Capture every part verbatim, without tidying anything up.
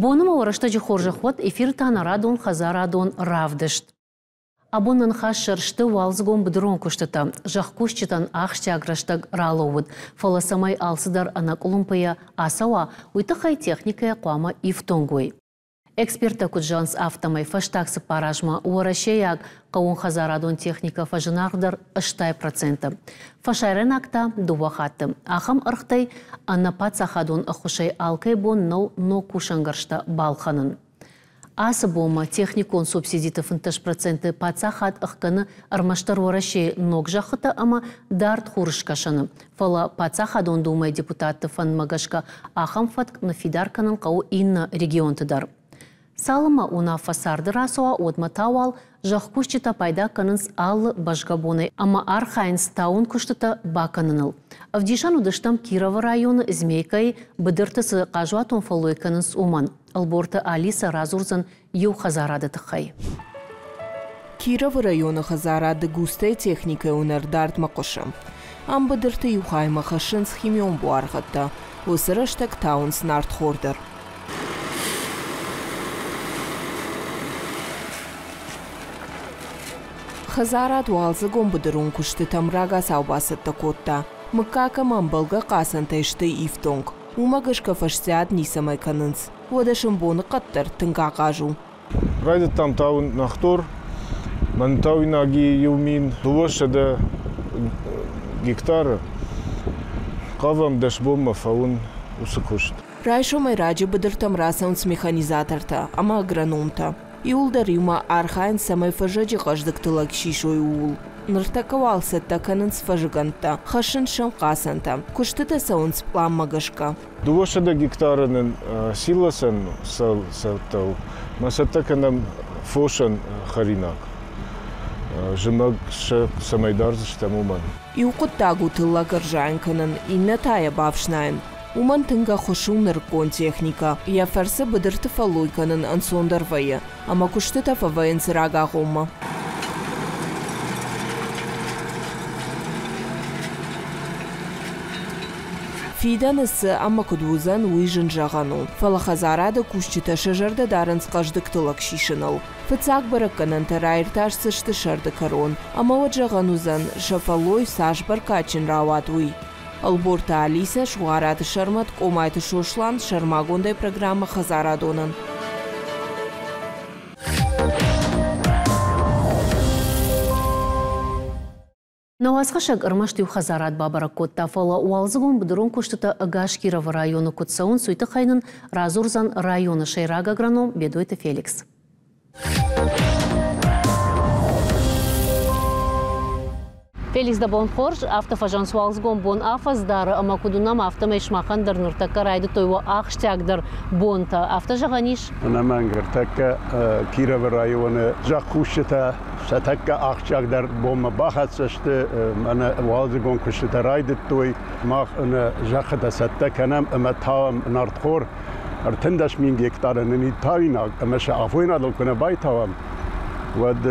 Боны ма рӕстӕджы хорзӕх уӕд, эфиры та нӕ радон хӕдзарадон равдыст. Абон нӕ ныхасы сӕр сты уалдзыгон быдырон куыстытӕ. Зӕхкусджытӕн ахсджиаг рӕстӕг ралӕууыд, фӕлӕ цӕмӕй алцыдӕр ӕнӕкъуылымпыйӕ ацӕуа, уый тыххӕй техникӕйӕ хъуамӕ ифтонг уой. Эксперттӕ куыд зӕгъынц, афтӕмӕй фӕстаг цыппар азмӕ уӕрӕсейаг хъӕууонхӕдзарадон техникӕ фӕзынаргъдӕр ӕстай проценты. Фӕсарӕйнаг та дыууӕ хатты. Ахӕм ӕргътӕй ӕнӕ паддзахадон ӕххуысӕй алкӕй бон нӕу ног кусӕнгӕрзтӕ балхӕнын. Ацы бонмӕ техникон субсидиты фынддӕс проценты паддзахад ӕхгӕны ӕрмӕстдӕр Уӕрӕсейы ног зӕххытӕ ӕмӕ дард хурыскӕсӕны. Фӕлӕ паддзахадон думӕйы депутатты фӕндмӕ гӕсгӕ ахӕм фӕтк ныффидар кӕнын хъӕуы иннӕ регионты дӕр. Цалынмӕ уынаффӕ царды рацӕуа, уӕдмӕ та уал зӕхкусджытӕ пайда кӕнынц алы бӕзгӕ бонӕй ӕмӕ архайынц тауын куыстытӕ бакӕныныл. Ӕвдисӕн уыдыстӕм Кировы районы Змейкӕйы быдырты цы хъазуатон фӕллой кӕнынц, уымӕн. Ӕлборты Алиса радзурдзӕн иу хӕдзарады тыххӕй. Кировы районы хӕдзарады Густӕй техникӕйы уынӕр дардмӕ хъуысы. Ам быдырты иу хаймӕ хӕссынц химион буаргъӕдтӕ. Уыцы рӕстӕг тауынц нартхор дӕр. Хӕдзарад уалдзыгон быдырон куыстытӕм рагацау бацӕттӕ кодта. Мыггаг ӕмӕ ӕмбӕлгӕ хъацӕнтӕй сты ифтонг. Уымӕ гӕсгӕ фӕстиат ницӕмӕй кӕнынц. Уӕдӕ сын боныхъӕд дӕр тынг ахъаз у. Райдыдтам тауын нартхор, мӕн тауинаги иу мин дыууӕсӕдӕ гектары. Хъавӕм дӕс бонмӕ фӕуын уыцы куыст. Райсомӕй раджы быдыртӕм рацӕуынц механизатортӕ ӕмӕ агрономтӕ. Иуылдӕр иумӕ архайынц, цӕмӕй фӕззӕджы хъӕздыг тыллӕг сисой, ууыл. Ныртӕккӕ уал цӕттӕ кӕнынц фӕзыгӕндтӕ, хӕссынц сӕм хъацӕнтӕ. Куыстытӕ цӕуынц пъланмӕ гӕсгӕ. Дыууӕсӕдӕ гектары нын силосӕн цӕттӕ у. Мӕ цӕттӕ кӕнӕм фосӕн хӕринаг. Зымӕг сӕ цӕмӕй дардзыстӕм, уымӕн. Иу хъуыддаг у тыллӕг ӕрзайын кӕнын, иннӕ та йӕ бафснайын. Уымӕн тынг ӕххуыс у нырыккон техникӕ. Йӕ фӕрцы быдырты фӕллой кӕнын ӕнцондӕр вӕййы, ӕмӕ куыстытӕ фӕвӕййынц рагагъоммӕ. Фидӕны цы ӕмӕ куыд уыдзӕн, уый зын зӕгъӕн у. Фӕлӕ хӕдзарады кусджытӕ сӕ зӕрдӕ дарынц хъӕздыг тыллӕг сисыныл. Фыццаг бӕрӕггӕнӕнтӕ раиртасдзысты сӕрды кӕрон. Ӕмӕ уӕд зӕгъӕн уыдзӕн, сӕ фӕллой цас бӕркадджын рауад, уый. Ӕлборты Алисӕ, Сугъараты Сӕрмӕт, Къомайты Сослан, сӕрмагондӕй программӕ «Хӕдзарадонӕн». Нӕ уацхӕссӕг ӕрмӕст иу хӕдзарад бабӕрӕг кодта, фӕлӕ уалдзыгон быдырон куыстытӕ ӕгас Кировы районы куыд цӕуынц, уый тыххӕй нын радзурдзӕн районы сӕйраг агроном Бедойты Феликс. Феликс, дӕ бон хорз, афтӕ фӕзӕгъынц, уалдзыгон бон афӕдз дары, ӕмӕ куыд уынӕм, афтӕмӕй сымахӕн дӕр ныртӕккӕ райдыдтой уӕ ахсджиагдӕр бонтӕ. Афтӕ зӕгъӕн ис? Ӕнӕмӕнг, ӕртӕккӕ Кировы районы зӕхкусджытӕ сӕ тӕккӕ ахсджиагдӕр бонмӕ бахӕццӕ сты, мӕнӕ уалдзыгон куыстытӕ райдыдтой. Мах нӕ зӕххытӕ цӕттӕ кӕнӕм ӕмӕ тауӕм нартхор. Ӕртындӕс мин гектары нын тауинаг, ӕмӕ сӕ афойнадыл куы нӕ байтауӕм, уӕд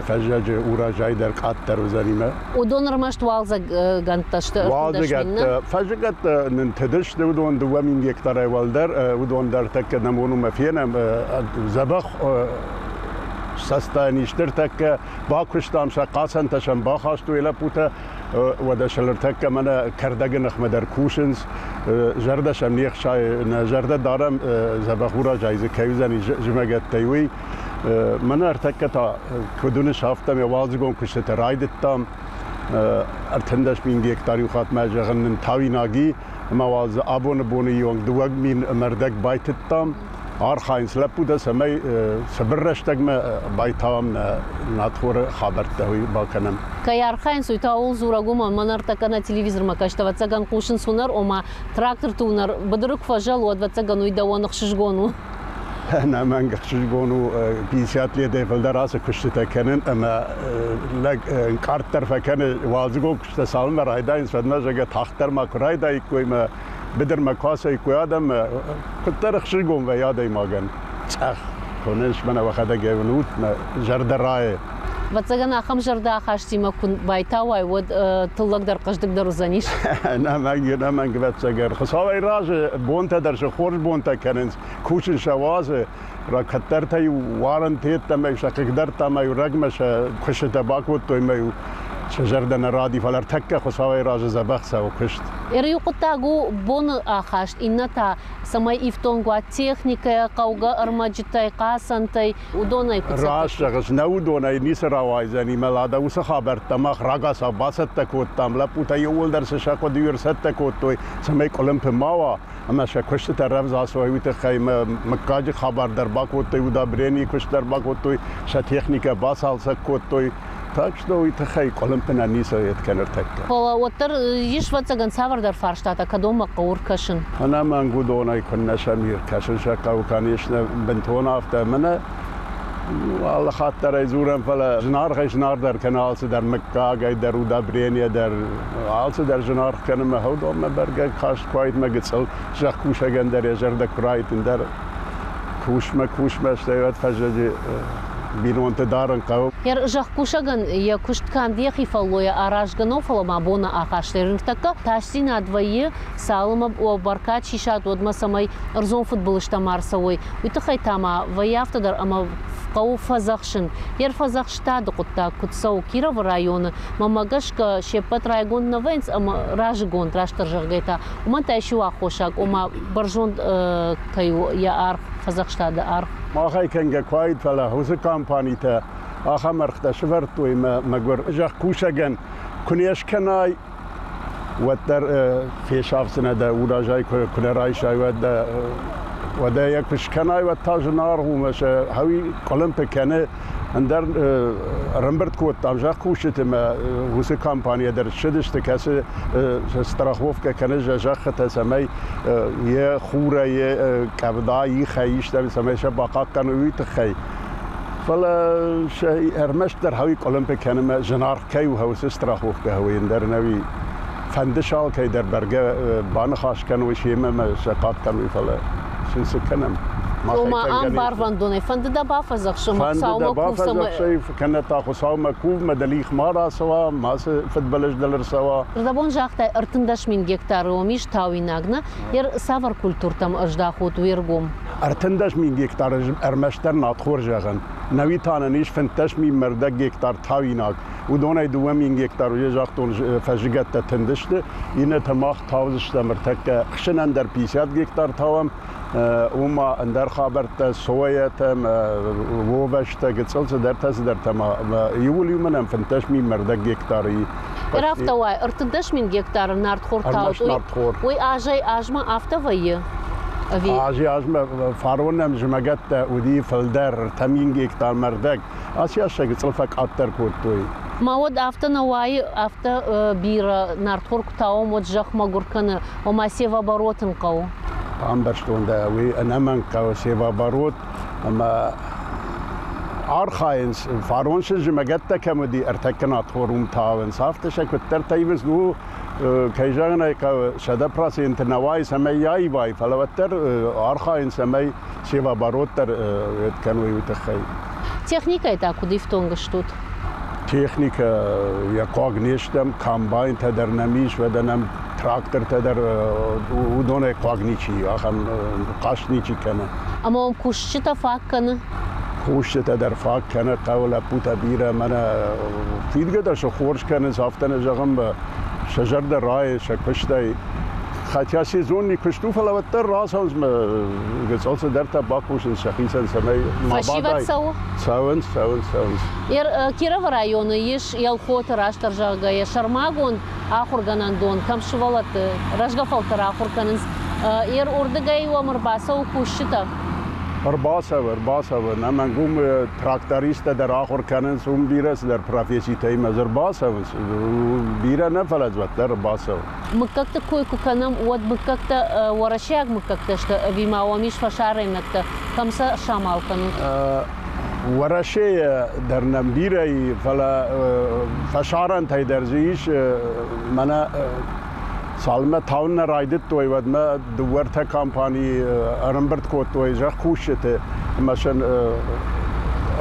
фӕззӕджы урожай дӕр къаддӕр уыдзӕнимӕ. Уыдон ӕрмӕст уалдзӕггӕндтӕ сты? Уалдзӕгӕттӕ, фӕззыгӕттӕ нын тыдысты, уыдон дыууӕ мин гектарӕй уӕлдӕр, уыдон дӕр тӕккӕ нӕ бон фенӕм, дзӕбӕх сӕстӕн истыр тӕккӕ бакуыстам, сӕ хъацӕнтӕ сӕм бахастой лӕппутӕ, уӕдӕ сӕ ныртӕккӕ мӕнӕ кӕрдӕгы ныхмӕ дӕр кусынц, зӕрдӕ сӕм не хсайы, нӕ зӕрдӕ дарӕм, дзӕбӕх урожай дзы кӕй уыдзӕни зымӕгӕттӕй, уый. Мӕнӕ ӕртӕккӕ та куыд уыныс, афтӕ уалдзыгон куыстытӕ райдыдтам. Ӕртындӕс мин гектар иу хатт мӕ зӕгъын нын тауинаги, ӕмӕ уал дзы абоны боны онг дыууӕ мин ӕмӕ байтыдтам. Архайынц лӕппутӕ, цӕмӕй цыбыр рӕстӕгмӕ байтауӕм нӕ нартхоры хабӕрттӕ, уый бакӕнӕм. Кӕй архайынц, уый та ууыл дзурӕг у, ӕмӕ ныртӕккӕ нӕ телевизормӕ кӕсты, ӕвӕццӕгӕн, хъусынц уынӕр, ома тракторты уынӕр быдыры куы фӕзӕлы, уӕд, ӕвӕццӕгӕн, уый дӕуӕн ӕхсызгон у. Ӕнӕмӕнг ӕхсызгон у, пятьдесят летӕй фылдӕр ацы куыстытӕ кӕнын, ӕмӕ лӕг ӕнкъарддӕр фӕкӕны, уалдзыгон куыстытӕ цалынмӕ райдайынц, уӕдмӕ, зӕгъгӕ, тагъддӕр ма куы райдаиккой мӕ быдырмӕ куы ацӕуиккой адӕм, куыддӕр ӕхсызгон вӕййы адӕймагӕн. Цъӕх хонынц, мӕнӕ уӕхӕдӕг ӕй уынут, мӕ зӕрдӕ райы. Ӕвӕццӕгӕн ахӕм зӕрдӕахастимӕ куы байтауай, уӕд тыллӕг дӕр хъӕздыгдӕр уыдзӕнис. Ӕнӕмӕнг, ӕнӕмӕнг, ӕвӕццӕгӕн. Хуыцауӕй разы, бонтӕ дӕр сӕ хорз бонтӕ кӕнынц, кусын сӕ уадзы. Кӕддӕртӕ-иу уарынты йеддӕмӕ сӕ хъыгдӕрдта ӕмӕ-иу рӕгмӕ сӕ куыстытӕ бакодтой ӕмӕ-иу сӕ зӕрдӕ нӕ ради, фӕлӕ ӕртӕккӕ Хуыцауӕй разы дзӕбӕх цӕуы куыст. Иу хъуыддаг у боны ахаст, иннӕ та, цӕмӕй ифтонг уа техникӕйӕ, хъӕугӕ ӕрмӕджытӕй, хъацӕнтӕй, уыдонӕй куыд цӕттӕ? Раст зӕгъыс, нӕ уыдонӕй ницы рауайдзӕни, мӕ лада уыцы хабӕрттӕ мах рагацау бацӕттӕ кодтам, лӕппутӕ иууылдӕр цы сӕ хъуыды ӕрцӕттӕ кодтой, цӕмӕй къуылымпы ма уа, ӕмӕ сӕ куыстытӕ рӕвдз ацӕуой, уый тыххӕй мыггаджы хабар дӕр бакодтой, удобренийы куыст дӕр бакодтой, сӕ техникӕ бацалцӕг кодтой. Так что уый тыххӕй къуылымпы нӕ ницы кӕны ӕртӕккӕ. Фӕлӕ уӕддӕр ис, ӕвӕццӕгӕн, цавӕрдӕр фарстатӕ, кӕдонмӕ хъӕуы ӕркӕсын. Ӕнӕмӕнг, уыдонӕй куыннӕ сӕм ӕркӕсын сӕ хъӕуы, конечно, бынтон афтӕ. Мӕнӕ алы хатт дӕр ӕй дзурӕм, фӕлӕ зынаргъӕй зынаргъдӕр кӕны алцыдӕр, мыггагӕй дӕр, удобрение дӕр, алцыдӕр зынаргъ кӕны, мӕ уыдонмӕ бӕргӕ каст куы уаид, мӕ гыццыл зӕхкусӕгӕн дӕр йӕ зӕрдӕ куы раид, ӕндӕр кусмӕ, кусмӕ, стӕй уӕд фӕззӕджы бинонты дарын хъӕуы. Зӕхкусӕгӕн йӕ куыст канд йӕхи фӕллойӕ аразгӕ нӕу, фӕлӕ ма боны ахастӕй. Ныртӕккӕ тасдзинад вӕййы, цалынмӕ бӕркад сисат, уӕдмӕ цӕмӕй ӕрдзон фыдбылызтӕ ма ӕрцӕуой. Уый тыххӕй та ма вӕййы афтӕ дӕр, ӕмӕ хъӕуы фӕдзӕхсын. Йе рфӕдзӕхстады хъуыддаг куыд цӕуы Кировы районы, мӕнмӕ гӕсгӕ, се ппӕт райгонд нӕ вӕййынц ӕмӕ разыгонд, растдӕр зӕгъгӕй та, уымӕн та ис иу аххосаг, ома бӕрзонд кӕй у йӕ аргъ, фӕдзӕхстады аргъ. Махӕй кӕнгӕ куы уаид, фӕлӕ уыцы компанитӕ ахӕм ӕргътӕ сӕвӕрдтой, мӕ мӕгуыр зӕхкусӕгӕн куы не скӕнай, уӕддӕр фесафдзынӕ дӕ урожай, куы нӕ райсай, уӕд дӕ уӕдӕ йӕ куы скӕнай, уӕд та зынаргъ у, мӕ сӕ хауи къуылымпы кӕны. Ӕндӕр ӕрӕмбырд кодтам зӕхкусджыты, мӕ уыцы компанийӕ дӕр ссыдысты, кӕцы страховкӕ кӕны зӕххытӕ, цӕмӕй йӕ хурӕй, йӕ къӕвда, ихӕй истӕ, цӕмӕй сӕ бахъахъхъӕной, уый тыххӕй. Фӕлӕ сӕ ӕрмӕстдӕр хауи къуылымпы кӕны, мӕ зынаргъ кӕй у, уыцы страховкӕ хауи, ӕндӕр нӕуи фӕнды сӕ алкӕй дӕр бӕргӕ баныхас кӕной семӕ мӕ сӕ хъахъхъӕной, фӕлӕ сын цы кӕнӕм? Ома ам барвӕндонӕй фӕнды дӕ бафӕдзӕхсын, фӕнды дӕ бафӕдзӕхсай, кӕнӕ та Хуыцаумӕ кув, мӕ дӕлих ма рацӕуа, мацы фыдбылыз дыл ӕрцӕуа. Рдӕбон загътай, ӕртындӕс мин гектары уым ис тауинаг, нӕ? Цавӕр культуртӕм ӕздахут уе ргом? Ӕртындӕс мин гектары ӕрмӕстдӕр надхор зӕгъӕн. Нӕуи та нын ис фынддӕс мин мӕрдӕг гектар тауинаг. Уыдонӕй дыууӕ мин гектар, уже загътон, фӕззыгӕттӕ тынд сты, иннӕтӕ мах таудзыстӕм ӕртӕккӕ. Хсынӕн дӕр пятьдесят гектар тауӕм, уым ма ӕндӕр хабӕрттӕ, соятӕ, вовӕстӕ, гыццыл цыдӕртӕ, цыдӕртӕ ма иууыл иумӕ нӕм фынддӕс мин мӕрдӕг гектары. Афтӕ уай, ӕртындӕс мин гектары нартхор таут, уый азӕй азмӕ афтӕ вӕййы? Азӕй азмӕ фарон нӕм зымӕгӕттӕ уыди фылдӕр, ӕртӕ мин гектар мӕрдӕг. Ацы аз сӕ гыццыл фӕкъаддӕр кодтой. Ма уӕд афтӕ нӕ уайы, афтӕ бирӕ нартхор куы тауӕм, уӕд зӕхх мӕгуыр кӕны, ома севооборот ын хъӕуы? Ӕмбӕрстон дӕ, уый ӕнӕмӕнг хъӕуы севооборот, ӕмӕ архайынц, фарон сын зымӕгӕттӕ кӕм уыди, ӕртӕккӕ нартхор уым тауынц. Афтӕ сӕ куыддӕртӕ ивынц, ну, кӕй зӕгъын ӕй хъӕуы, сӕдӕ проценты нӕ уайы, цӕмӕй йӕ аивай, фӕлӕ уӕддӕр архайынц, цӕмӕй севооборот дӕр кӕной, уый тыххӕй. Техникӕй та куыд ифтонг стут? Техникӕ йӕ хъуаг не стӕм, комбайнтӕ дӕр нӕм ис, уӕдӕ нӕм трактортӕ дӕр, уыдонӕй хъуаг ничи, ахӕм хъаст ничи кӕны. Ӕмӕ уӕм кусджытӕ фаг кӕны? Кусджытӕ дӕр фаг кӕны, хъӕуы лӕппутӕ бирӕ, мӕнӕ фидгӕ дӕр сӕ хорз кӕнынц, афтӕ нӕ зӕгъын, сӕ зӕрдӕ райы сӕ куыстӕй. Хотя сезонный куыст у, фӕлӕ уӕддӕр рацӕуынц, гыццыл цыдӕртӕ бакусынц сӕхицӕн, цӕмӕй ма Фӕсивӕд цӕуы? Цӕуынц, цӕуынц, цӕуынц. Кировы районы ис Елхоты, растдӕр зӕгъгӕйӕ, сӕрмагонд ахуыргӕнӕндон, кӕм сывӕллӕтты рӕзгӕ фӕлтӕр ахуыр кӕнынц. Ер уырдыгӕй уӕм ӕрбацӕуы кусджытӕ? Ӕрбацӕуы, ӕрбацӕуы. Нӕмӕнг, уым трактористтӕ дӕр ахуыр кӕнынц, уым бирӕ цыдӕр професситӕ имӕ ӕрбацӕуынц. Бирӕ нӕ, фӕлӕ уӕддӕр ӕрбацӕуы. Мыггӕгты кой куы кӕнӕм, уӕд мыггӕгтӕ уӕрӕсейаг мыггӕгтӕ сты ӕви ма уӕм ис фӕсарӕйнӕгтӕ, кӕм сӕ самал кӕнут? Уӕрӕсейы дӕр нӕм бирӕ и, фӕлӕ фӕсарӕнтӕй дӕр дзы ис. Мӕнӕ цалынмӕ тауын нӕ райдыдтой, уӕдмӕ дыууӕ ӕртӕ компанийы ӕрӕмбырд кодтой зӕхкусджыты ӕмӕ сын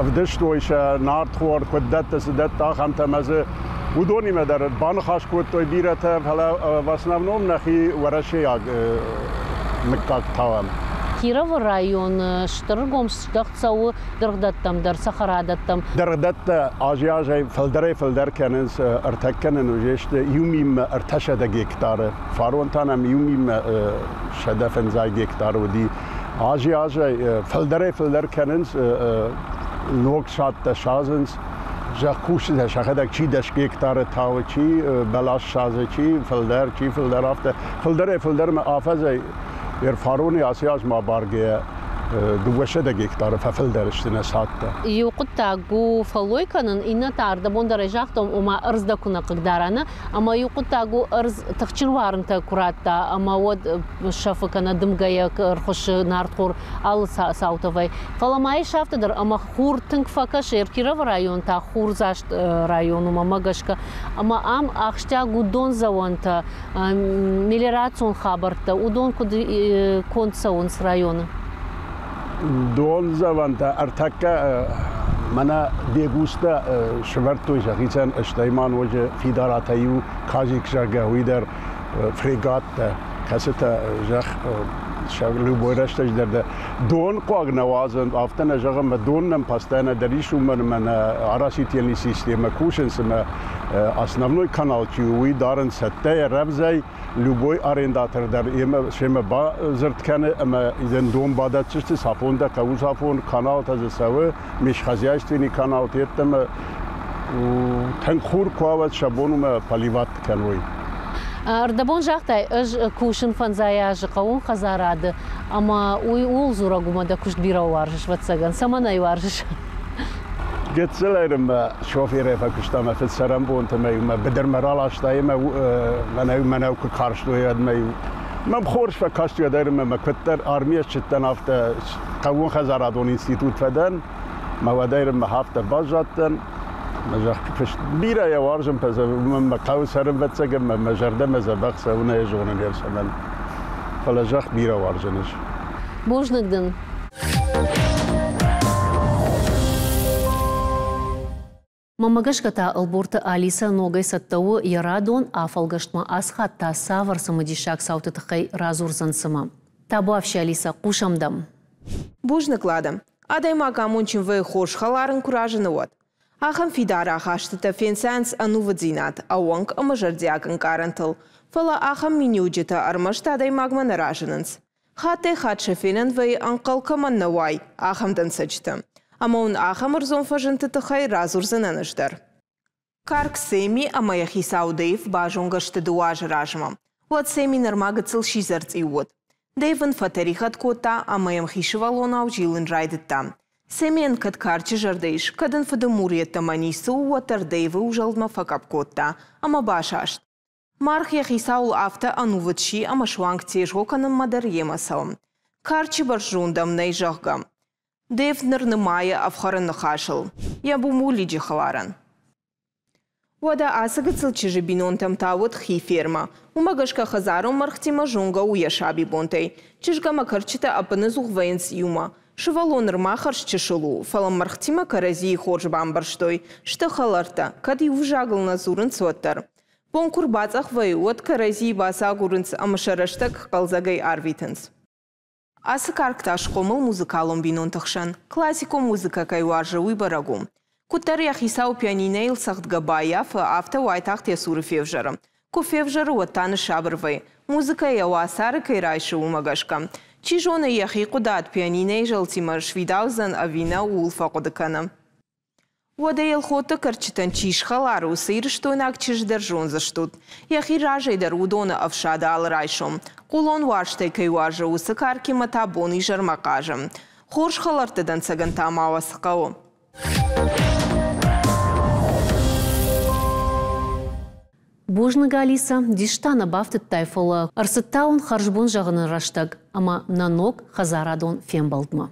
ӕвдыстой сӕ нартхор, куыд дӕтты, цы дӕтты, ахӕмтӕ ӕмӕ дзы уыдонимӕ дӕр баныхас кодтой бирӕтӕ, фӕлӕ в основном нӕхи уӕрӕсейаг мыггаг тауӕм. Кировы районы стыр ӕргом здӕхт цӕуы дыргъдӕттӕм дӕр, цӕхӕрадӕттӕм. Дыргъдӕттӕ азӕй-азӕй фылдӕрӕй-фылдӕр кӕнынц, ӕртӕккӕ нын уыдысты иу минмӕ ӕртӕсӕдӕ гектары. Фарон та нӕм иу минмӕ сӕдӕ фӕндзай гектары уыди. Азӕй-азӕй фылдӕрӕй-фылдӕр кӕнынц, ног садтӕ садзынц. Зӕхкусджытӕ сӕхӕдӕг чи дӕс гектары тауы, чи бӕлас садзы, чи фылдӕр, чи фылдӕр, афтӕ. Фылдӕрӕй-фылдӕрмӕ афӕдзӕй Фароны ацы аз ма баргӕйӕ дыууӕсӕдӕ гектары фӕфылдӕр сты нӕ цадтӕ. Иу хъуыддаг у фӕллой кӕнын, иннӕ та ӕрдӕбон дӕр ӕй загътон, ома ӕрдз дӕ куы нӕ хъыгдара, нӕ? Ӕмӕ иу хъуыддаг у ӕрдз тыхджын уарынтӕ куы радта, ӕмӕ уӕд сӕфы кӕнӕ дымгӕйӕ ӕрхуыссы нартхор алы цаутӕвӕй. Фӕлӕ ма ис афтӕ дӕр, ӕмӕ хур тынг фӕкӕсы, Кировы район та хурдзаст район у, мӕ гӕсгӕ. Ӕмӕ ам ахсджиаг у дондзӕуӕнтӕ, мелиорацион хабӕрттӕ, уыдон куыд конд цӕуынц районы? Дондзӕуӕнтӕ ӕртӕккӕ мӕнӕ Бегустӕ сӕвӕрдтой сӕхицӕн, стӕй ма ноджы Фидаратӕ иу Казик, зӕгъгӕ, уый дӕр фрегаттӕ, кӕцытӕ зӕхх любой рӕстӕджы дӕр дӕ дон хъуаг нӕ уадзын, афтӕ нӕ зӕгъӕм, мӕ дон нӕм постоянно дӕр ис, уымӕн ӕмӕ нӕ оросительный системӕ кусынц ӕмӕ основной канал чи у, уый дарын цӕттӕйӕ, рӕвдзӕй, любой арендатор дӕр йемӕ семӕ бадзырд кӕны ӕмӕ йын дон бадӕтдзысты, цафон дӕ хъӕуы, цафон каналтӕ дзы цӕуы, межхозяйственный каналты йеддӕмӕ тынг хур куы уа, уӕд сӕ бон уымӕ поливать кӕной. Ӕрдӕбон загътай, ӕз кусын фӕндзай азы хъӕууон хӕдзарады, ӕмӕ уый ууыл дзурӕг у, ӕмӕ дӕ куыст бирӕ уарзыс, ӕвӕццӕгӕн. Цӕмӕн ӕй уарзыс? Гыццылӕй мӕ шоферӕй фӕкуыста мӕ фыд цӕрӕнбонты, мӕ мӕ быдырмӕ раласта ӕмӕ мӕнӕу мӕнӕу куы карстой, уӕд мӕ мӕм хорз фӕкасти, уӕд ӕмӕ мӕ куыддӕр армийӕ ссыдтӕн, афтӕ хъӕууон хӕдзарадон институт фӕдӕн, мӕ уӕдӕй мӕ афтӕ баззадтӕн. Мӕ зӕхкуыст бирӕ йӕ уарзын, мӕ хъӕуы цӕрын, ӕвӕццӕгӕн, мӕ зӕрдӕмӕ дзӕбӕх цӕуын ӕй зонын йӕ цӕмӕн. Фӕлӕ зӕхх бирӕ уарзын ӕз. Бузныг дын. Мӕнмӕ гӕсгӕ та Ӕлборты Алисӕ ногӕй цӕттӕ у йӕ радон афӕлгӕстмӕ, ацы хатт та цавӕр цымыдисаг цауты тыххӕй радзурдзӕн цымӕ? Табуафси, Алисӕ, хъусӕм дӕм. Бузныг, Лада. Адӕймаг амондджын вӕййы, хорз хӕлар ын куы разыны, уӕд. Ахӕм фидар ахастытӕ фенцайынц ӕнувыддзинад, ӕууӕнк ӕмӕ зӕрдиаг ӕнкъарӕнтыл. Фӕлӕ ахӕм миниуджытӕ ӕрмӕст адӕймагмӕ нӕ разынынц. Хаттӕй-хатт сӕ фенӕн вӕййы, ӕнхъӕл кӕмӕн нӕ уай, ахӕм дӕнцӕджытӕ. Ӕмӕ уын ахӕм ӕрдзон фӕзындты тыххӕй радзурдзынӕн ӕз дӕр. Карк Сэмми ӕмӕ йӕ хицау Дэйв базонгӕ сты дыууӕ азы размӕ. Уӕд Сэмми нырма гыццыл сидзӕр цъиу уыд. Дэйв ын фӕтӕригъӕд кодта ӕмӕ йӕм хи сывӕллонау зилын райдыдта. Сэммийӕн кӕд карчы зӕрдӕ ис, кӕд ын фыды мур йеддӕмӕ ницы у, уӕддӕр Дэйвы узӕлдмӕ фӕкъӕпп кодта ӕмӕ басаст. Маргъ йӕ хицауыл афтӕ ӕнувыд си ӕмӕ суанг тезгъо кӕнынмӕ дӕр йемӕ цӕуы. Карчы бӕрзонд ӕм нӕй, зӕгъгӕ. Дэйв ныр нымайы ӕфхӕрын ныхасыл. Йӕ бумулиджы хӕларӕн. Уӕдӕ ацы гыццыл чызджы бинонтӕм та уыд хи фермӕ. Уымӕ гӕсгӕ хӕдзарон мӕргътимӕ зонгӕ у йӕ сабибонтӕй. Чызг ӕмӕ кӕрчытӕ ӕппынӕдзух вӕййынц иумӕ. Сывӕллон нырма хӕрз чысыл у, фӕлӕ мӕргътимӕ кӕрӕдзийы хорз бамбӕрстой. Сты хӕлӕрттӕ, кӕд иу взагыл нӕ дзурынц, уӕддӕр. Бон куы рбацъӕх вӕййы, уӕд кӕрӕдзийы бацагурынц ӕмӕ сӕ рӕстӕг хъӕлдзӕгӕй арвитынц. Ацы карк та схъомыл музыкалон бинонты хсӕн. Классикон музыкӕ кӕй уарзы, уый бӕрӕг у. Куыддӕр йӕ хицау пианинӕйыл цӕгъдгӕ баййафы, афтӕ уайтагъд йӕ цуры февзӕры. Куы февзӕры, уӕд та ныссабыр вӕййы. Музыкӕ йӕ уацары кӕй райсы, уымӕ гӕсгӕ. Чи зоны, йӕхи хъуыдат пианинӕйы зӕлтимӕ сфидаудзӕн ӕви нӕ, ууыл фӕхъуыды кӕны. Уӕдӕ Елхоты кӕрчытӕн чи схӕлар, уыцы ирыстойнаг чызг дӕр зондзыстут. Йӕхи разӕй дӕр уыдоны ӕфсады алы райсом. Хъулон уарзтӕй кӕй уарзы, уыцы каркимӕ та бон-изӕрмӕ хъазы. Хорз хӕлӕртты дӕнцӕгӕн та ма уӕ цы хъӕуы? Бузныг, Алисӕ, диста нӕ бафтыдтай, фӕлӕ ӕрцыдта уын хӕрзбон зӕгъыны рӕстӕг ӕмӕ нӕ ног хӕдзарадон фембӕлдмӕ.